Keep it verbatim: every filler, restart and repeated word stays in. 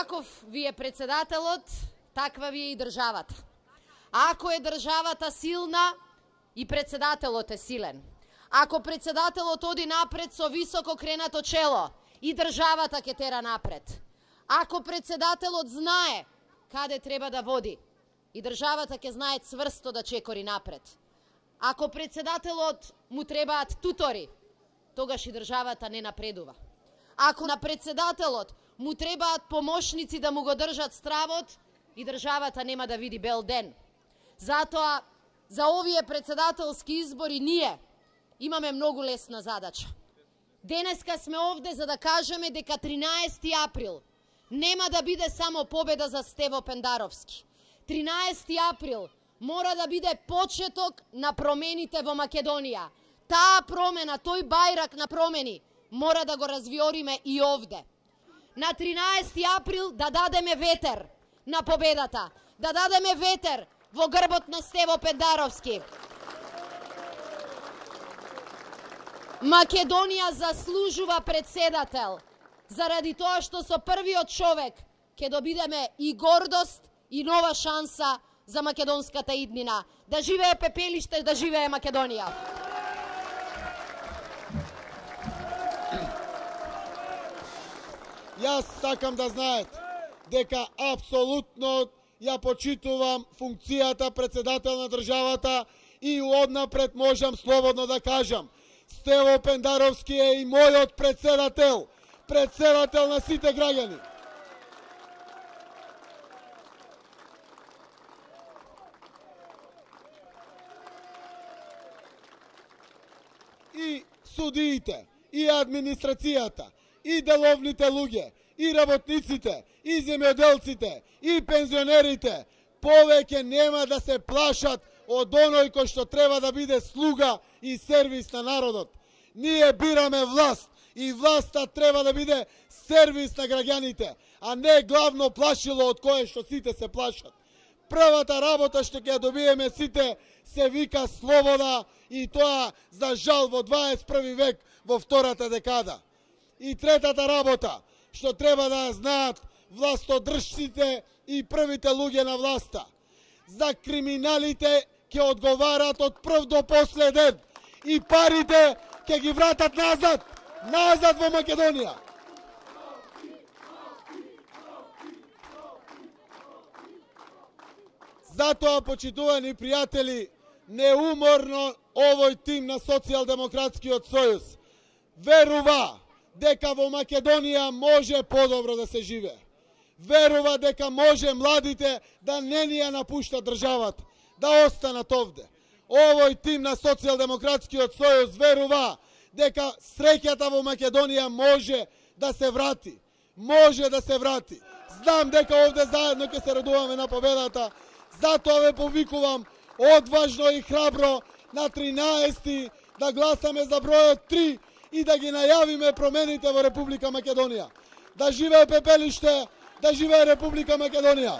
Каков ви е председателот, таква ви е и државата. Ако е државата силна, и председателот е силен. Ако председателот оди напред со високо кренато чело, и државата ќе тера напред. Ако председателот знае каде треба да води, и државата ќе знае цврсто да чекори напред. Ако председателот му требаат тутори, тогаш и државата не напредува. Ако на председателот му требаат помошници да му го држат стравот, и државата нема да види бел ден. Затоа, за овие председателски избори ние имаме многу лесна задача. Денеска сме овде за да кажеме дека тринаесети април нема да биде само победа за Стево Пендаровски. тринаесети април мора да биде почеток на промените во Македонија. Таа промена, тој бајрак на промени, мора да го развиориме и овде. На тринаесети април да дадеме ветер на победата, да дадеме ветер во грбот на Стево Пендаровски. Македонија заслужува председател, заради тоа што со првиот човек ќе добидеме и гордост и нова шанса за македонската иднина. Да живее Пепелиште, да живее Македонија! Јас сакам да знаете дека апсолутно ја почитувам функцијата председател на државата и однапред можам слободно да кажам, Стево Пендаровски е и мојот председател, председател на сите граѓани. И судиите, и администрацијата, и деловните луѓе, и работниците, и земјоделците, и пензионерите повеќе нема да се плашат од оној кој што треба да биде слуга и сервис на народот. Ние бираме власт и власта треба да биде сервис на граѓаните, а не главно плашило од кое што сите се плашат. Првата работа што ќе добиеме сите се вика слобода и тоа за жал во дваесет и први век во втората декада. И третата работа што треба да знаат властодржците и првите луѓе на власта. За криминалите ќе одговарат од прв до последен и парите ќе ги вратат назад, назад во Македонија. Затоа, почитувани пријатели, неуморно овој тим на Социјалдемократскиот сојуз верува дека во Македонија може подобро да се живее. Верува дека може младите да не ни ја напуштат државата, да останат овде. Овој тим на Социјалдемократскиот сојуз верува дека среќата во Македонија може да се врати. Може да се врати. Знам дека овде заедно ќе се радуваме на победата, затоа ве повикувам одважно и храбро на тринаесети да гласаме за бројот три и да ги најавиме промените во Република Македонија. Да живее Пепелиште, да живее Република Македонија!